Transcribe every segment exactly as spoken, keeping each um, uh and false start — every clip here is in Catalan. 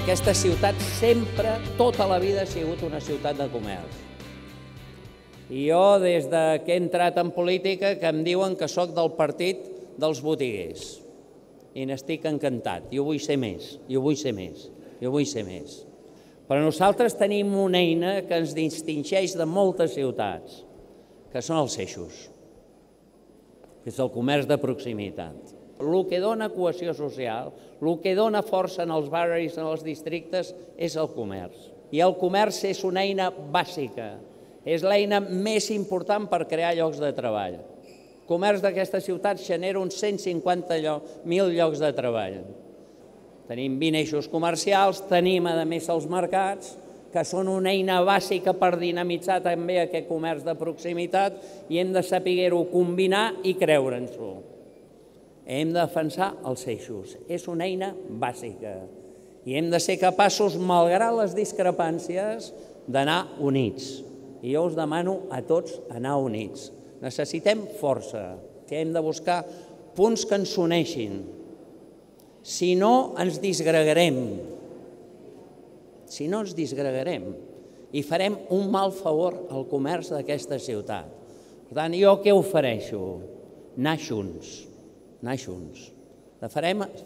Aquesta ciutat sempre, tota la vida, ha sigut una ciutat de comerç. I jo, des que he entrat en política, que em diuen que sóc del partit dels botiguers. I n'estic encantat. Jo vull ser més, jo vull ser més, jo vull ser més. Però nosaltres tenim una eina que ens distingeix de moltes ciutats, que són els eixos, que és el comerç de proximitat. El que dona cohesió social, el que dona força en els barris, en els districtes, és el comerç. I el comerç és una eina bàsica, és l'eina més important per crear llocs de treball. El comerç d'aquesta ciutat genera uns cent cinquanta mil llocs de treball. Tenim vint eixos comercials, tenim, a més, els mercats, que són una eina bàsica per dinamitzar també aquest comerç de proximitat i hem de saber-ho combinar i creure'ns-ho. Hem de defensar els eixos. És una eina bàsica. I hem de ser capaços, malgrat les discrepàncies, d'anar units. I jo us demano a tots anar units. Necessitem força. Hem de buscar punts que ens uneixin. Si no, ens disgregarem. Si no, ens disgregarem. I farem un mal favor al comerç d'aquesta ciutat. Per tant, jo què ofereixo? Anar junts. Anar junts.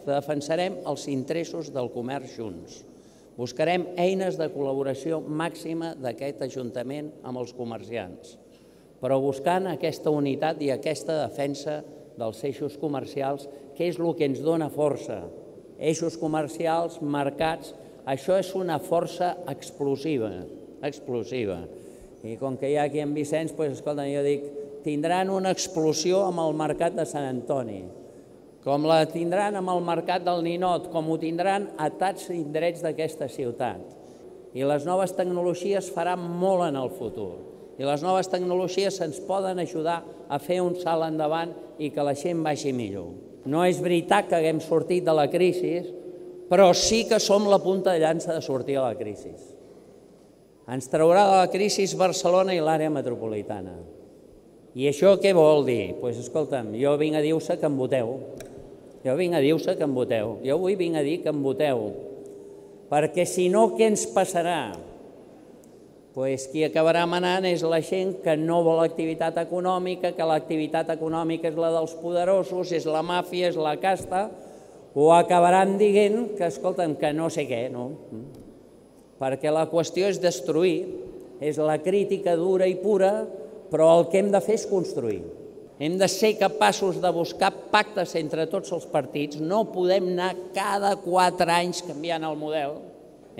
Defensarem els interessos del comerç junts. Buscarem eines de col·laboració màxima d'aquest Ajuntament amb els comerciants, però buscant aquesta unitat i aquesta defensa dels eixos comercials, que és el que ens dona força. Eixos comercials, mercats, això és una força explosiva, explosiva. I com que hi ha aquí en Vicenç, doncs, escolta, jo dic, tindran una explosió amb el mercat de Sant Antoni, com la tindran amb el mercat del Ninot, com ho tindran a tants indrets d'aquesta ciutat. I les noves tecnologies faran molt en el futur. I les noves tecnologies ens poden ajudar a fer un salt endavant i que la gent vagi millor. No és veritat que haguem sortit de la crisi, però sí que som la punta de llança de sortir de la crisi. Ens traurà de la crisi Barcelona i l'àrea metropolitana. I això què vol dir? Doncs escolta'm, jo vinc a dir-vos que em voteu. Jo vinc a dir-vos que em voteu. Jo avui vinc a dir que em voteu. Perquè si no, què ens passarà? Doncs qui acabarà manant és la gent que no vol activitat econòmica, que l'activitat econòmica és la dels poderosos, és la màfia, és la casta, o acabaran dient que, escolta'm, que no sé què, no? Perquè la qüestió és destruir, és la crítica dura i pura, però el que hem de fer és construir. Hem de ser capaços de buscar pactes entre tots els partits, no podem anar cada quatre anys canviant el model.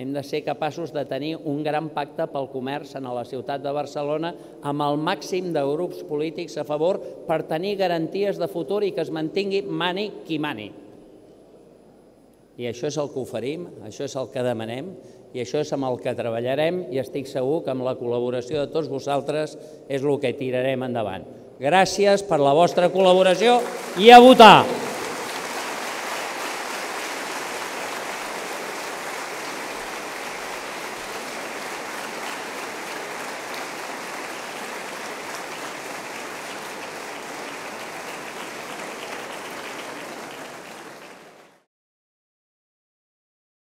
Hem de ser capaços de tenir un gran pacte pel comerç a la ciutat de Barcelona amb el màxim de grups polítics a favor per tenir garanties de futur i que es mantingui mani qui mani. I això és el que oferim, això és el que demanem i això és amb el que treballarem i estic segur que amb la col·laboració de tots vosaltres és el que tirarem endavant. Gràcies per la vostra col·laboració i a votar!